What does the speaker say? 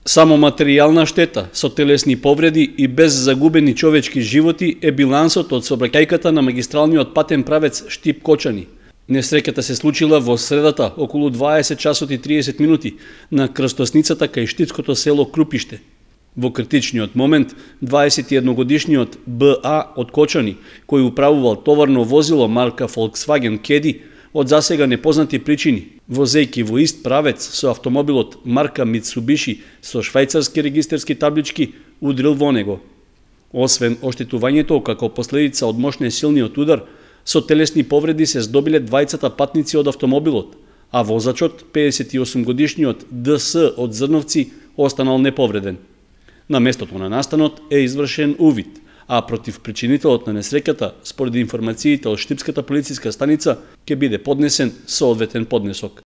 Само материјална штета со телесни повреди и без загубени човечки животи е билансот од сообраќајката на магистралниот патен правец Штип-Кочани. Несреќата се случила во средата околу 20 часот и 30 минути на крстосницата кај штипското село Крупиште. Во критичниот момент 21-годишниот БА од Кочани, кој управувал товарно возило марка Volkswagen Caddy, од засега непознати причини, возејќи во ист правец со автомобилот марка Mitsubishi со швајцарски регистерски таблички, удрил во него. Освен оштетувањето како последица од мощнесилниот удар, со телесни повреди се здобиле двајцата патници од автомобилот, а возачот, 58-годишниот ДС од Зрновци, останал неповреден. На местото на настанот е извршен увид, а против причинителот на несреќата, според информациите од Штипската полициска станица, ќе биде поднесен соодветен поднесок.